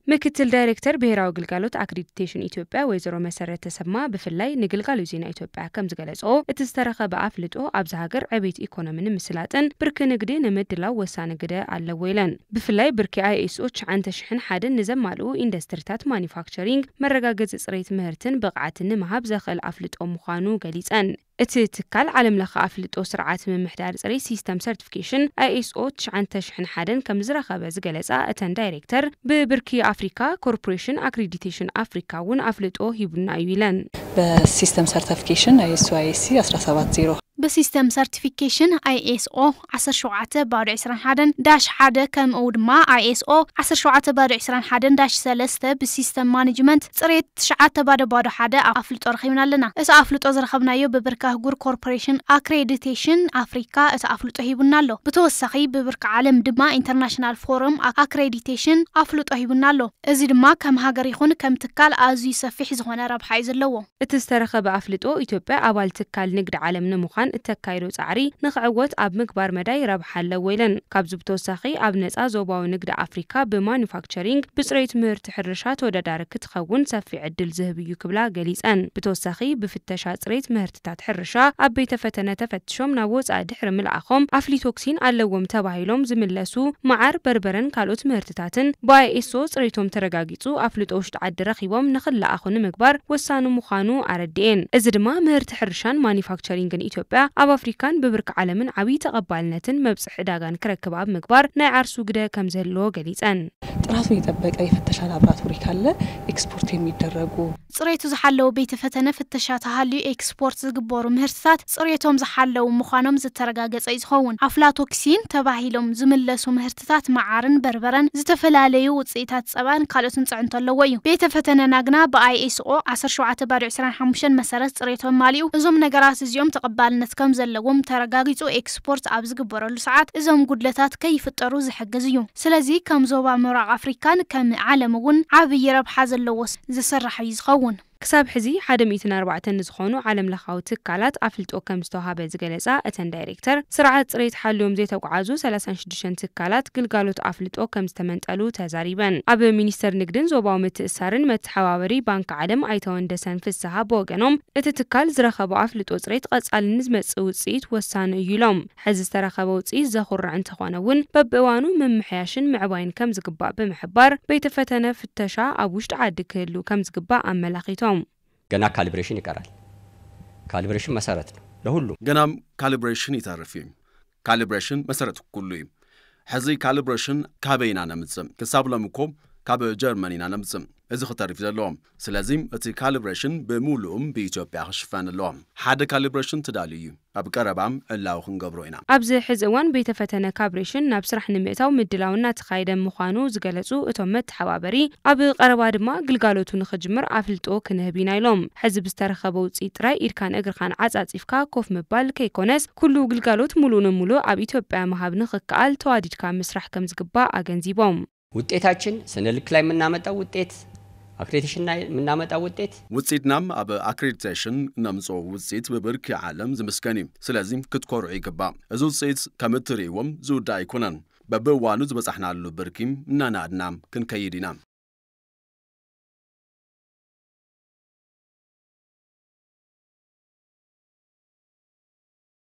ምክትል ዳይሬክተር ብሄራዊ ግልጋሎት ኣክሬዲቴሽን ኢትዮጵያ ወይዘሮ መሰረት ተሰማ ብፍላይ ንግልጋሎት ዜና ኢትዮጵያ ከም ዝገለጽኦ፣ እቲ ዝተረኸበ ኣፍልጦ ኣብዚ ሃገር ዕቤት ኢኮኖሚ ንምስላጥን ብርኪ ንግዲ ንምድላው ወሳኒ ግደ ኣለዎ ኢለን። ብፍላይ ብርኪ ኣይኤስኦ ትሽዓተ ሽሕን ሓደን ንዘማልኡ ኢንዱስትሪታት ማኒፋክቸሪንግ መረጋገጺ ጽሬት ምህርትን ብቕዓትን ንምሃብ ዘኽእል ኣፍልጦ ምዃኑ ገሊጸን። እቲ ትካል ዓለም ለኸ ኣፍልጦ ስርዓት ምምሕዳር ጽሬት ሲስተም ሰርቲፊኬሽን ኣይኤስኦ ትሽዓተ ሽሕን ሓደን ከም ዝረኸበ ዝገለጻ እተን ዳይሬክተር፣ ብብርኪ ኣፍሪካ ኮርፖሬሽን ኣክሬዲቴሽን ኣፍሪካ እውን ኣፍልጦ ሂቡና እዩ ኢለን። በሲስተም ሰርቲፊኬሽን አይኤስኦ አይኤስሲ አስራ ሰባት ዜሮ ብሲስተም ሰርቲፊኬሽን ኣይኤስኦ ዓሰርተ ሸውዓተ ባዶ ዕስራን ሓደን ዳሽ ሓደ ከምኡ ድማ ኣይኤስኦ ዓሰርተ ሸውዓተ ባዶ ዕስራን ሓደን ዳሽ ሰለስተ ብሲስተም ማኔጅመንት ጽሬት ትሽዓተ ባዶ ባዶ ሓደ ኣፍልጦ ረኺብና ኣለና። እቲ ኣፍልጦ ዝረኸብናዮ ብብርኪ ኣህጉር ኮርፖሬሽን ኣክሬዲቴሽን ኣፍሪካ እቲ ኣፍልጦ ሂቡና ኣሎ። ብተወሳኺ ብብርኪ ዓለም ድማ ኢንተርናሽናል ፎረም ኣክሬዲቴሽን ኣፍልጦ ሂቡና ኣሎ። እዚ ድማ ከም ሃገር ይኹን ከም ትካል ኣዝዩ ሰፊሕ ዝኾነ ረብሓ እዩ ዘለዎ። እቲ ዝተረኸበ ኣፍልጦ ኢትዮጵያ ኣባል ትካል ንግዲ ዓለም ንምዃን እተካይዶ ጻዕሪ ንኽዕወት ኣብ ምግባር መዳይ ረብሓ ኣለዎ ኢለን። ካብዚ ብተወሳኺ ኣብ ነጻ ዞባዊ ንግዲ ኣፍሪካ ብማኑፋክቸሪንግ ብጽሬት ምህርቲ ሕርሻ ተወዳዳሪ ክትኸውን ሰፊሕ ዕድል ዝህብ እዩ ክብላ ገሊጸን። ብተወሳኺ ብፍተሻ ጽሬት ምህርትታት ሕርሻ ኣብ ቤተ ፈተነ ተፈትሾም ናብ ወጻኢ ድሕሪ ምልኣኾም ኣፍሊቶክሲን ኣለዎም ተባሂሎም ዝምለሱ መዓር፣ በርበረን ካልኦት ምህርትታትን ብኣይኤስኦ ጽሬቶም ተረጋጊጹ ኣፍልጦ ውሽጢ ዓዲ ረኺቦም ንኽለኣኹ ንምግባር ወሳኒ ምዃኑ ኣረድኤን። እዚ ድማ ምህርቲ ሕርሻን ማኒፋክቸሪንግን ኢትዮጵያ ኣብ ኣፍሪካን ብብርኪ ዓለምን ዓብዪ ተቐባልነትን መብጽሒ ዕዳጋን ክረክብ ኣብ ምግባር ናይ ዓርሱ ግደ ከም ዝህልዎ ገሊጸን። ጥራቱን የጠበቀ የፈተሻ ላብራቶሪ ካለ ኤክስፖርት የሚደረጉ ጽሬቱ ዝሓለወ ቤተ ፈተነ ፍተሻ ተሃልዩ ኤክስፖርት ዝግበሩ ምህርትታት ጽሬቶም ዝሓለዉ ምዃኖም ዝተረጋገጸ እዩ ዝኸውን። ኣፍላቶክሲን ተባሂሎም ዝምለሱ ምህርትታት መዓርን በርበረን፣ ዝተፈላለዩ ውፅኢታት ጸባን ካልኦትን ጽዕንቶ ኣለዎ እዩ። ቤተ ፈተነና ግና ብኣይኤስኦ ዓሰርተ ሸውዓተ ባዶ ዕስራን ሓሙሽተን መሰረት ጽሬቶም ማሊኡ እዞም ነገራት እዚኦም ተቐባልነት ከም ዘለዎም ተረጋጊጹ ኤክስፖርት ኣብ ዝግበረሉ ሰዓት እዞም ጉድለታት ከይፍጠሩ ዝሕግዝ እዩ። ስለዚ ከም ዞባ ምብራቕ ኣፍሪካን ከም ዓለም እውን ዓብዪ ረብሓ ዘለዎ ዝስራሕ እዩ ዝኸውን። ክሳብ ሕዚ ሓደ ሚእትን ኣርባዕተን ንዝኾኑ ዓለም ለኻዊ ትካላት ኣፍልጦ ከም ዝተውሃበ ዝገለጻ እተን ዳይሬክተር፣ ስርዓት ጽሬት ሓልዮም ዘይተጓዓዙ ሰላሳን ሽዱሽተን ትካላት ግልጋሎት ኣፍልጦ ከም ዝተመንጠሉ ተዛሪበን። ኣብ ሚኒስተር ንግድን ዞባዊ ምትእሳርን መተሓባበሪ ባንክ ዓለም ኣይተ ወንደሰን ፍስሃ ብወገኖም፣ እቲ ትካል ዝረኸቦ ኣፍልጦ ጽሬት ቀጻሊ ንዝመጽእ ውጽኢት ወሳኒ እዩ ኢሎም። ሕዚ ዝተረኸበ ውጽኢት ዘኹርዕ እንተኾነ እውን በብእዋኑ ምምሕያሽን ምዕባይን ከም ዝግባእ ብምሕባር፣ ቤተ ፈተነ ፍተሻ ኣብ ውሽጢ ዓዲ ክህሉ ከም ዝግባእ ኣመላኺቶም። ገና ካልብሬሽን ይቀራል። ካልብሬሽን መሰረት ነው ለሁሉም። ገናም ካልብሬሽን ይተርፍ እዩ። ካልብሬሽን መሰረት ኩሉ እዩ። ሕዚ ካልብሬሽን ካበይ ኢና ነምጽእ? ክሳብ ሎም እኮ ካብ ጀርመን ኢና ነምጽእ። እዚ ክተርፍ እዩ ዘለዎ። ስለዚ እቲ ካልብሬሽን ብምሉኡም ብኢትዮጵያ ክሽፈን ኣለዎ። ሓደ ካልብሬሽን ተዳልዩ እዩ። ኣብ ቀረባ ዕላዊ ክንገብሮ ኢና። ኣብዚ ሕዚ እዋን ቤተ ፈተነ ካብሬሽን ናብ ስራሕ ንምእታው ምድላው እናተኻየደ ምዃኑ ዝገለጹ እቶም መተሓባበሪ፣ ኣብ ቀረባ ድማ ግልጋሎቱ ንኽጅምር ኣፍልጦ ክንህብ ኢና ኢሎም። ሕዚ ብዝተረኸበ ውፅኢት ጥራይ ኢድካን እግርኻን ዓፃፂፍካ ኮፍ ምባል ከይኮነስ፣ ኩሉ ግልጋሎት ሙሉእ ንሙሉእ ኣብ ኢትዮጵያ ምሃብ ንኽከኣል ተዋዲድካ ምስራሕ ከም ዝግባእ ኣገንዚቦም። ውጤታችን ስነ ልክ ላይ የምናመጣው ውጤት፣ አክሬዲቴሽን ላይ የምናመጣው ውጤት ውጽኢትናም ኣብ ኣክሬዲቴሽን ነምጽኦ ውጽኢት ብብርኪ ዓለም ዝምስገን እዩ። ስለዚ ክትኮርዑ ይግባእ። እዚ ውጽኢት ከም እትርእይዎም ዝውዳእ ኣይኮነን። በብእዋኑ ዝበጻሕናሉ ብርኪ እናናድና ክንከይድ ኢና።